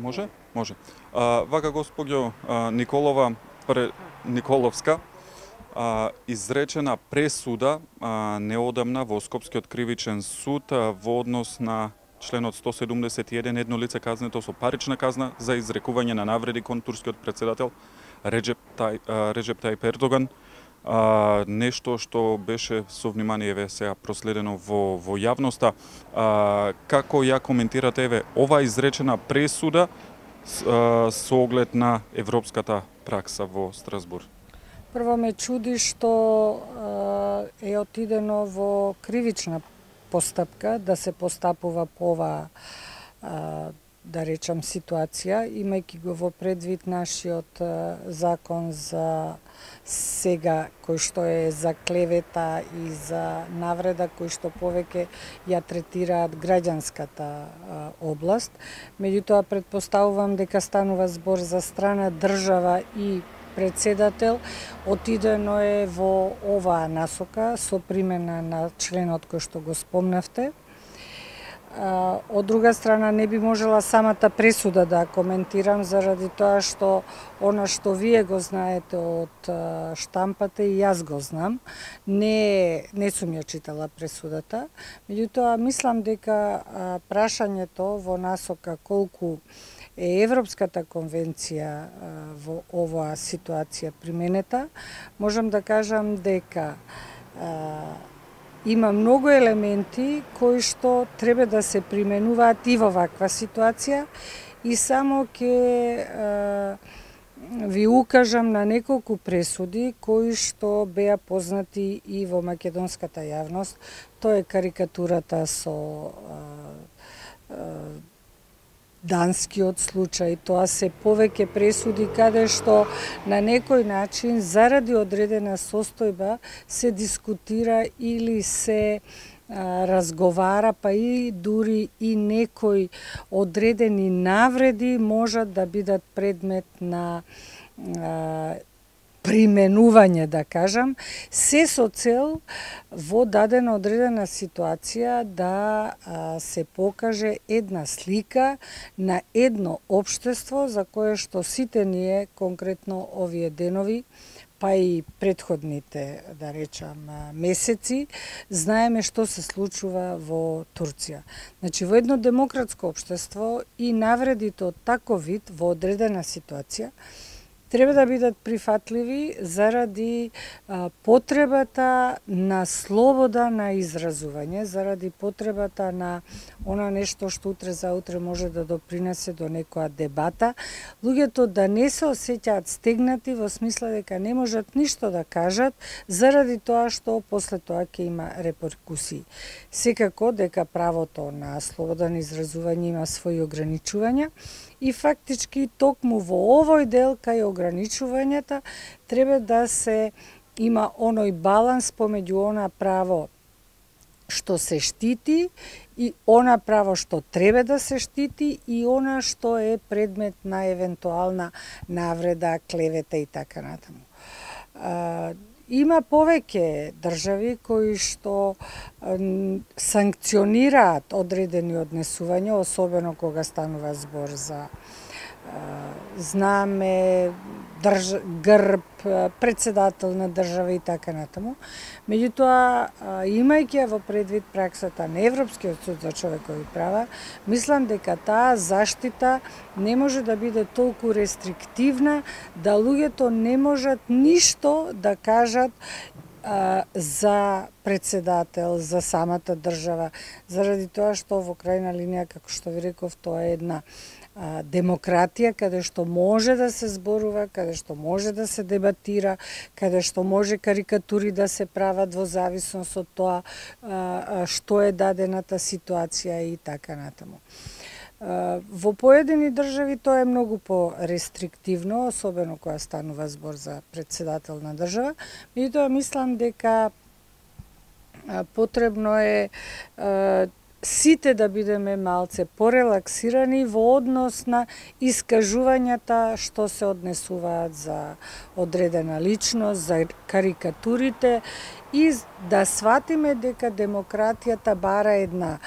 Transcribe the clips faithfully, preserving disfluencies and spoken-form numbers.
Може? Може. А, вака госпоѓо а, Николова пре, Николовска а, изречена пресуда а, неодамна во Скопскиот кривичен суд а, во однос на членот сто седумдесет и еден, едно лице казнето со парична казна за изрекување на навреди кон турскиот председател Реджеп Тај, а, Реджеп Тајип Ердоган. А, нешто што беше со внимание еве сега проследено во во јавноста. А, како ја коментирате еве ова изречена пресуда а, со оглед на европската пракса во Страсбур? Прво ме чуди што е отидено во кривична постапка да се постапува по ова, да речам, ситуација, имајќи го во предвид нашиот закон за сега, кој што е за клевета и за навреда, кој што повеќе ја третираат граѓанската област. Меѓутоа, предпоставувам дека станува збор за страна држава и председател, отидено е во оваа насока со примена на членот кој што го спомнавте. Од друга страна, не би можела самата пресуда да коментирам заради тоа што она што вие го знаете од штампата и јас го знам. Не, не сум ја читала пресудата. Меѓутоа, мислам дека прашањето во насока колку е Европската конвенција во оваа ситуација применета, можам да кажам дека има многу елементи кои што треба да се применуваат и во ваква ситуација и само ќе ви укажам на неколку пресуди кои што беа познати и во македонската јавност. Тоа е карикатурата со данскиот случај, тоа се повеќе пресуди каде што на некој начин заради одредена состојба се дискутира или се а, разговара, па и дури и некои одредени навреди можат да бидат предмет на а, применување, да кажам, се со цел во дадена одредена ситуација да а, се покаже една слика на едно општество за кое што сите ние, конкретно овие денови, па и предходните, да речам, месеци, знаеме што се случува во Турција. Значи, во едно демократско општество и навредите од таков вид во одредена ситуација треба да бидат прифатливи заради а, потребата на слобода на изразување, заради потребата на она нешто што утре заутре може да допринесе до некоја дебата, луѓето да не се осеќаат стегнати во смисла дека не можат ништо да кажат заради тоа што после тоа ќе има реперкусии. Секако дека правото на слобода на изразување има своји ограничувања и фактички токму во овој дел кај ограничувањата треба да се има оној баланс помеѓу она право што се штити и она право што треба да се штити и она што е предмет на евентуална навреда, клевета и така натаму. Има повеќе држави кои што санкционираат одредени однесувања, особено кога станува збор за знаме, држ... грб, председател на држава и така натаму. Меѓутоа, имајќи во предвид праксата на Европскиот суд за човекови права, мислам дека таа заштита не може да биде толку рестриктивна да луѓето не можат ништо да кажат а, за председател, за самата држава, заради тоа што во крајна линија, како што ви реков, тоа е една демократија, каде што може да се зборува, каде што може да се дебатира, каде што може карикатури да се прават во зависност од тоа што е дадената ситуација и така натаму. Во поедини држави тоа е многу по-рестриктивно, особено кога станува збор за председател на држава, меѓутоа мислам дека потребно е сите да бидеме малце порелаксирани во однос на искажувањата што се однесуваат за одредена личност, за карикатурите и да сватиме дека демократијата бара една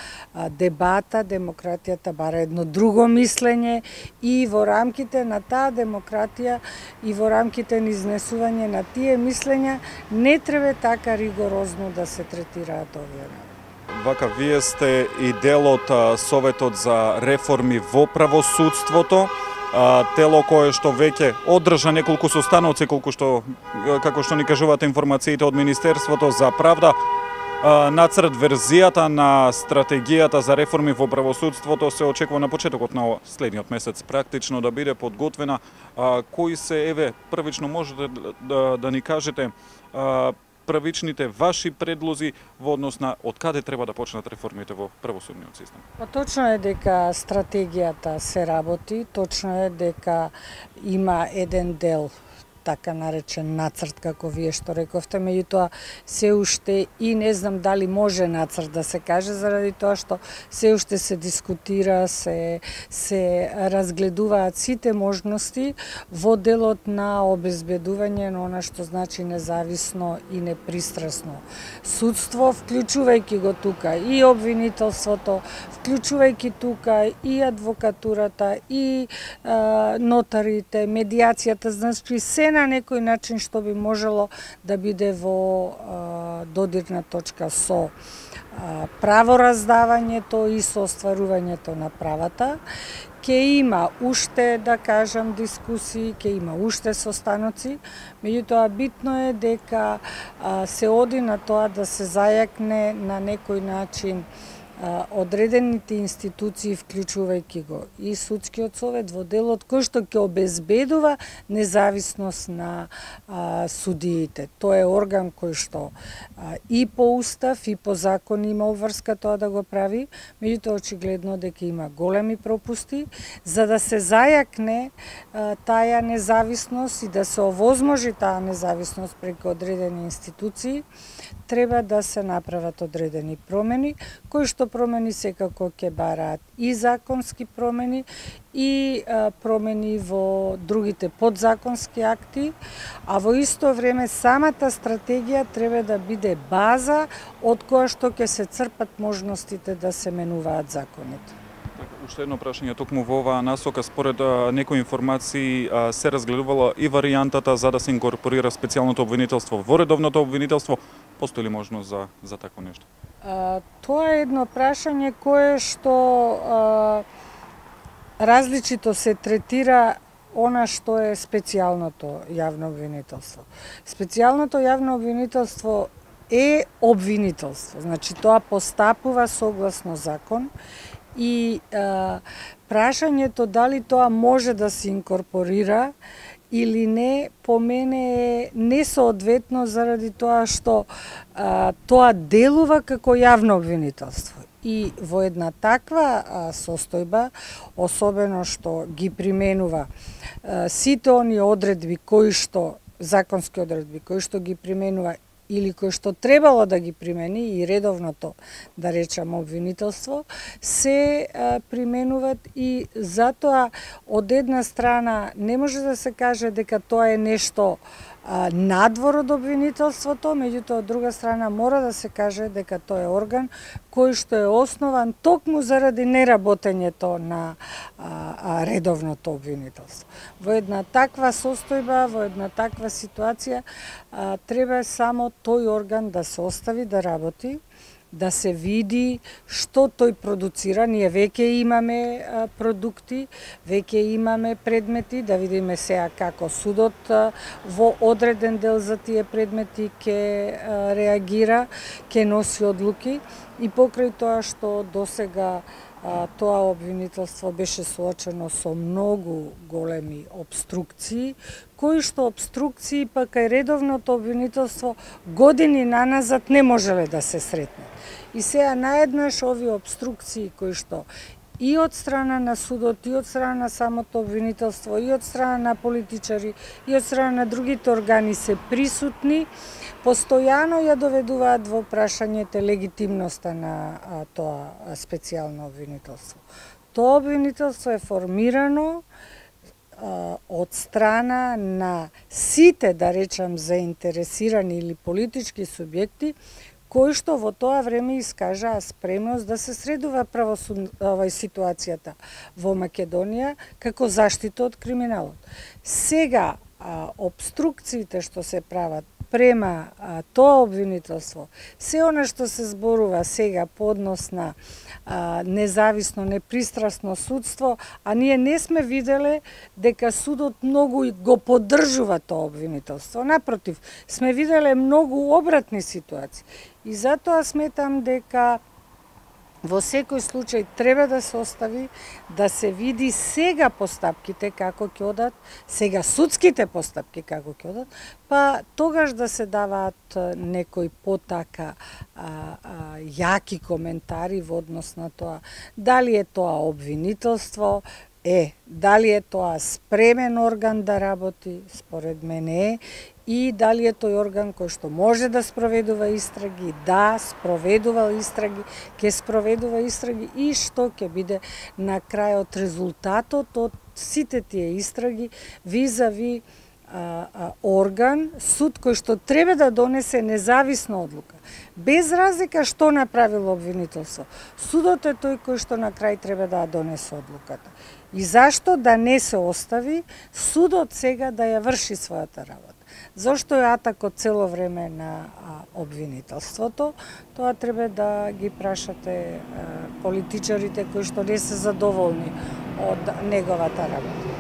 дебата, демократијата бара едно друго мислење и во рамките на таа демократија и во рамките на изнесување на тие мислења не треба така ригорозно да се третираат овие. Вака, вие сте и дел од Советот за реформи во правосудството, тело кое што веќе одржа неколку состаноци, колку што, како што ни кажуваат информациите од Министерството за правда, нацрт верзијата на стратегијата за реформи во правосудството се очекува на почетокот на следниот месец практично да биде подготвена. Кои се, еве, првично можете да, да ни кажете првичните ваши предлози во однос на од каде треба да почнат реформите во правосудниот систем? Па точно е дека стратегијата се работи, точно е дека има еден дел така наречен нацрт, како вие што рековте, меѓутоа се уште и не знам дали може нацрт да се каже, заради тоа што се уште се дискутира, се, се разгледуваат сите можности во делот на обезбедување на она што значи независно и непристрасно судство, вклучувајќи го тука и обвинителството, вклучувајќи тука и адвокатурата, и а, нотарите, медијацијата, значи се на некој начин што би можело да биде во а, додирна точка со а, правораздавањето и со остварувањето на правата. Ке има уште, да кажам, дискусии, ке има уште состаноци, меѓутоа битно е дека а, се оди на тоа да се зајакне на некој начин одредените институции, вклучувајќи го и судскиот совет во делот кој што ќе обезбедува независност на а, судиите. Тоа е орган кој што а, и по устав и по закон има обврска тоа да го прави, меѓутоа очигледно дека има големи пропусти. За да се зајакне а, таа независност и да се овозможи таа независност преку одредени институции, треба да се направат одредени промени, кои што промени секако ќе бараат и законски промени и а, промени во другите подзаконски акти, а во исто време самата стратегија треба да биде база од која што ќе се црпат можностите да се менуваат законите. Уште едно прашање токму во оваа насока, според а, некои информации а, се разгледувала и варијантата за да се инкорпорира специјалното обвинителство во редовното обвинителство. Постои ли можност за, за такво нешто? А, тоа е едно прашање кое што а, различито се третира она што е специјалното јавно обвинителство. Специјалното јавно обвинителство е обвинителство, значи тоа постапува согласно закон и а, прашањето дали тоа може да се инкорпорира или не, по мене е несоодветно заради тоа што а, тоа делува како јавно обвинителство. И во една таква а, состојба, особено што ги применува а, сите они одредби кои што, законски одредби кои што ги применува или кои што требало да ги примени и редовното, да речам, обвинителство, се а, применуват и затоа од една страна не може да се каже дека тоа е нешто а, надвор од обвинителството, меѓутоа од друга страна мора да се каже дека тоа е орган кој што е основан токму заради неработењето на а, а, редовното обвинителство. Во една таква состојба, во една таква ситуација, а, треба само тој орган да се остави да работи, да се види што тој продуцира. Ние веќе имаме а, продукти, веќе имаме предмети, да видиме сега како судот а, во одреден дел за тие предмети ќе реагира, ќе носи одлуки и покрај тоа што досега а, тоа обвинителство беше соочено со многу големи обструкции, кои што обструкции пак кај редовното обвинителство години наназад не можеле да се сретнат. И сега наеднаш овие обструкции кои што и од страна на судот, и од страна на самото обвинителство, и од страна на политичари, и од страна на другите органи се присутни, постојано ја доведуваат во прашањето легитимноста на а, тоа специјално обвинителство. Тоа обвинителство е формирано а, од страна на сите, да речам, заинтересирани или политички субјекти, кои што во тоа време искажаа спремност да се средува правосуд овај ситуацијата во Македонија како заштита од криминалот. Сега а, обструкциите што се прават према а, тоа обвинителство, се она што се зборува сега по однос на а, независно, непристрасно судство, а ние не сме виделе дека судот многу го поддржува тоа обвинителство. Напротив, сме виделе многу обратни ситуации. И затоа сметам дека во секој случај треба да се остави да се види сега постапките како ќе одат, сега судските постапки како ќе одат, па тогаш да се даваат некои потака а, а, јаки коментари во однос на тоа дали е тоа обвинителство, е, дали е тоа спремен орган да работи, според мене е, и дали е тој орган кој што може да спроведува истраги, да, спроведува истраги, ќе спроведува истраги и што ќе биде на крајот резултатот од сите тие истраги визави а, а, орган, суд кој што треба да донесе независна одлука. Без разлика што направило обвинителство. Судот е тој кој што на крај треба да донесе одлуката. И зашто да не се остави судот сега да ја врши својата работа? Зошто е атакот цело време на а, обвинителството? Тоа треба да ги прашате а, политичарите кои што не се задоволни од неговата работа.